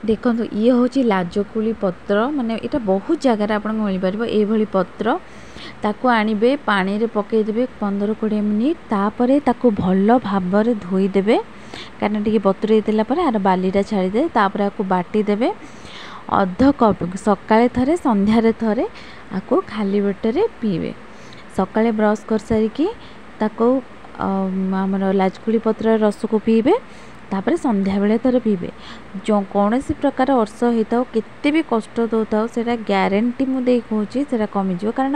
ଦେଖନ୍ତୁ, ଇଏ ହେଉଛି ଲାଜକୁଳି ପତ୍ର। ମାନେ ଏଇଟା ବହୁତ ଜାଗାରେ ଆପଣଙ୍କୁ ମିଳିପାରିବ ଏଇଭଳି ପତ୍ର। ତାକୁ ଆଣିବେ, ପାଣିରେ ପକାଇଦେବେ 15-20 ମିନିଟ୍। ତାପରେ ତାକୁ ଭଲ ଭାବରେ ଧୋଇଦେବେ, କାହିଁକିନା ଟିକେ ବତୁରେଇ ଦେଲା ପରେ ଆର ବାଲିଟା ଛାଡ଼ିଦେବେ। ତାପରେ ଆକୁ ବାଟିଦେବେ। ଅଧ କପ୍ ସକାଳେ ଥରେ, ସନ୍ଧ୍ୟାରେ ଥରେ ଆକୁ ଖାଲି ପେଟରେ ପିଇବେ। ସକାଳେ ବ୍ରସ୍ କରିସାରିକି ତାକୁ ଆମର ଲାଜକୁଳି ପତ୍ରର ରସକୁ ପିଇବେ, ତାପରେ ସନ୍ଧ୍ୟାବେଳେ ଥରେ ପିଇବେ। ଯେଉଁ କୌଣସି ପ୍ରକାର ଅର୍ଶ ହେଇଥାଉ, କେତେ ବି କଷ୍ଟ ଦେଉଥାଉ, ସେଇଟା ଗ୍ୟାରେଣ୍ଟି ମୁଁ ଦେଇ କହୁଛି, ସେଇଟା କମିଯିବ। କାରଣ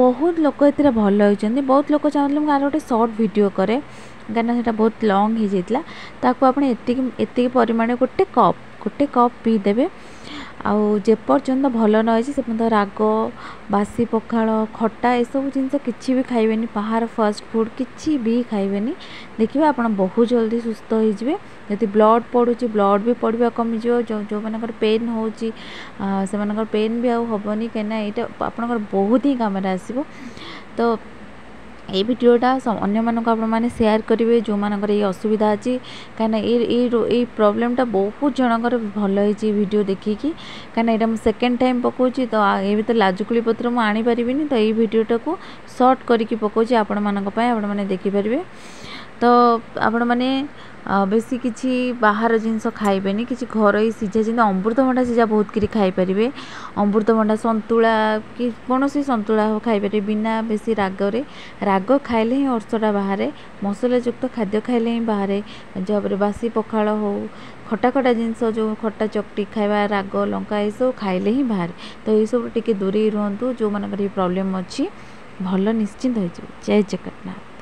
ବହୁତ ଲୋକ ଏଥିରେ ଭଲ ହେଇଛନ୍ତି। ବହୁତ ଲୋକ ଚାହୁଁଥିଲେ ମୁଁ ଆର ଗୋଟେ ସର୍ଟ ଭିଡ଼ିଓ କରେ, କାହିଁକିନା ସେଇଟା ବହୁତ ଲଙ୍ଗ୍ ହେଇଯାଇଥିଲା। ତାକୁ ଆପଣ ଏତିକି ଏତିକି ପରିମାଣ ଗୋଟେ କପ୍ ପିଇଦେବେ। ଆଉ ଯେପର୍ଯ୍ୟନ୍ତ ଭଲ ନ ହେଇଛି, ସେ ପର୍ଯ୍ୟନ୍ତ ରାଗ, ବାସି ପଖାଳ, ଖଟା ଏସବୁ ଜିନିଷ କିଛି ବି ଖାଇବେନି। ବାହାର ଫାଷ୍ଟ ଫୁଡ଼୍ କିଛି ବି ଖାଇବେନି। ଦେଖିବେ, ଆପଣ ବହୁତ ଜଲ୍ଦି ସୁସ୍ଥ ହେଇଯିବେ। ଯଦି ବ୍ଲଡ଼୍ ପଡ଼ୁଛି, ବ୍ଲଡ଼୍ ବି ପଡ଼ିବା କମିଯିବ। ଯେଉଁ ଯେଉଁମାନଙ୍କର ପେନ୍ ହେଉଛି, ସେମାନଙ୍କର ପେନ୍ ବି ଆଉ ହେବନି, କାହିଁକିନା ଏଇଟା ଆପଣଙ୍କର ବହୁତ ହିଁ କାମରେ ଆସିବ। ତ ଏଇ ଭିଡ଼ିଓଟା ଅନ୍ୟମାନଙ୍କୁ ଆପଣମାନେ ସେୟାର କରିବେ, ଯେଉଁମାନଙ୍କର ଏଇ ଅସୁବିଧା ଅଛି, କାହିଁକିନା ଏଇ ପ୍ରୋବ୍ଲେମଟା ବହୁତ ଜଣଙ୍କର ଭଲ ହେଇଛି ଭିଡ଼ିଓ ଦେଖିକି। କାହିଁକିନା ଏଇଟା ମୁଁ ସେକେଣ୍ଡ ଟାଇମ୍ ପକାଉଛି, ତ ଏ ଭିତରେ ଲାଜକୁଳି ପତ୍ର ମୁଁ ଆଣିପାରିବିନି, ତ ଏଇ ଭିଡ଼ିଓଟାକୁ ସର୍ଟ କରିକି ପକାଉଛି ଆପଣମାନଙ୍କ ପାଇଁ, ଆପଣମାନେ ଦେଖିପାରିବେ। ତ ଆପଣମାନେ ବେଶୀ କିଛି ବାହାର ଜିନିଷ ଖାଇବେନି, କିଛି ଘରୋଇ ସିଝା, ଯେମିତି ଅମୃତଭଣ୍ଡା ସିଝା ବହୁତ କରି ଖାଇପାରିବେ। ଅମୃତଭଣ୍ଡା ସନ୍ତୁଳା କି କୌଣସି ସନ୍ତୁଳା ହଉ ଖାଇପାରିବେ, ବିନା ବେଶୀ ରାଗରେ। ରାଗ ଖାଇଲେ ହିଁ ଅର୍ଶଟା ବାହାରେ, ମସଲାଯୁକ୍ତ ଖାଦ୍ୟ ଖାଇଲେ ହିଁ ବାହାରେ। ଯାହାପରେ ବାସି ପଖାଳ ହଉ, ଖଟା ଖଟା ଜିନିଷ, ଯେଉଁ ଖଟା ଚକଟି ଖାଇବା, ରାଗ ଲଙ୍କା ଏସବୁ ଖାଇଲେ ହିଁ ବାହାରେ। ତ ଏଇସବୁ ଟିକେ ଦୂରେଇ ରୁହନ୍ତୁ ଯେଉଁମାନଙ୍କର ଏ ପ୍ରୋବ୍ଲେମ୍ ଅଛି, ଭଲ ନିଶ୍ଚିନ୍ତ ହେଇଯିବ। ଜୟ ଜଗନ୍ନାଥ।